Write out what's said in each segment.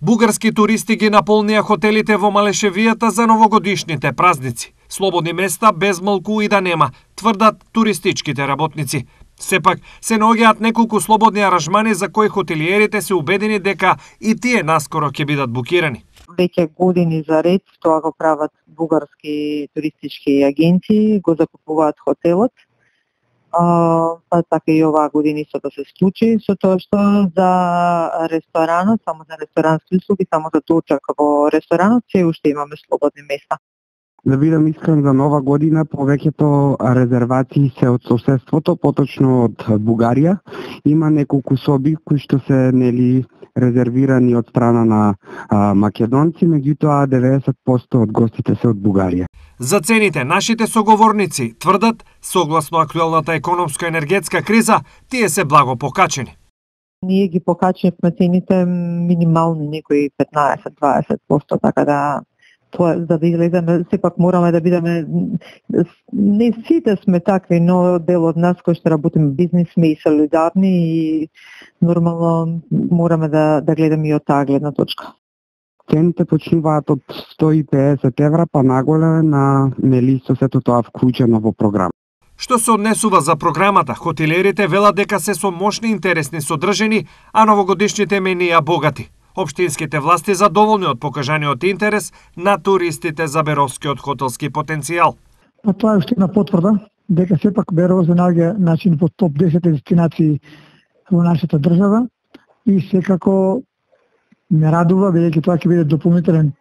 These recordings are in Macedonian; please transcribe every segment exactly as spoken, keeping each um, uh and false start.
Бугарски туристи ги наполнија хотелите во Малешевијата за новогодишните празници. Слободни места без малку и да нема, тврдат туристичките работници. Сепак, се наоѓаат неколку слободни аранжмани за кои хотелиерите се убедени дека и тие наскоро ќе бидат букирани. Веќе години за ред тоа го прават бугарски туристички агенции, го закупуваат хотелот. А, па така и оваа година исто да се случи, со тоа што за ресторанот, само за ресторански услуги, само за дочак во ресторанот, се уште имаме слободни места. Да бидам искрен, за нова година повеќето резервации се од соседството, поточно од Бугарија. Има неколку соби кои што се нели резервирани од страна на а, македонци, меѓутоа деветдесет проценти од гостите се од Бугарија. За цените нашите соговорници тврдат, согласно актуелната економско-енергетска криза, тие се благо покачени. Ние ги покачивме цените минимални, некои петнаесет до дваесет проценти, така да тоа за да излеземе, сепак мораме да бидеме, не сите сме такви, но дел од нас кои што работиме бизнис сме и солидарни и нормално мораме да, да гледаме и од таа гледна точка. Цените почнуваат од сто и педесет евра па наголе на нели со сето тоа вклучено во програма. Што се однесува за програмата, хотелерите велат дека се со мощни интересни содржини, а новогодишните менија богати. Општинските власти задоволни од покажаниот интерес на туристите за Беровскиот хотелски потенцијал. Па тоа е уште една потврда дека сепак Берово се наоѓа начин во топ десет дестинации во нашата држава и секако ме радува бидејќи тоа ќе биде дополнителен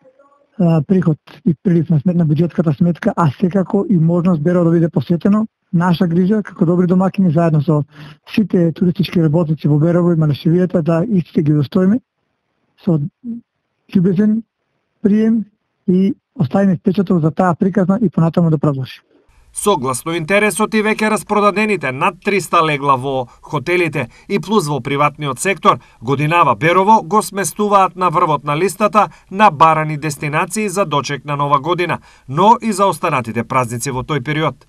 а, приход и прилив на сметна буџетската сметка, а секако и можност Берово да биде посетено. Наша грижа како добри домакини заедно со сите туристички работници во Берово и Малешевијата да истите ги достоиме со љубезен прием и оставиме впечаток за таа приказна и понатаму да продолжи. Согласно интересот и веќе распродадените над триста легла во хотелите и плюс во приватниот сектор, годинава Берово го сместуваат на врвот на листата на барани дестинации за дочек на нова година, но и за останатите празници во тој период.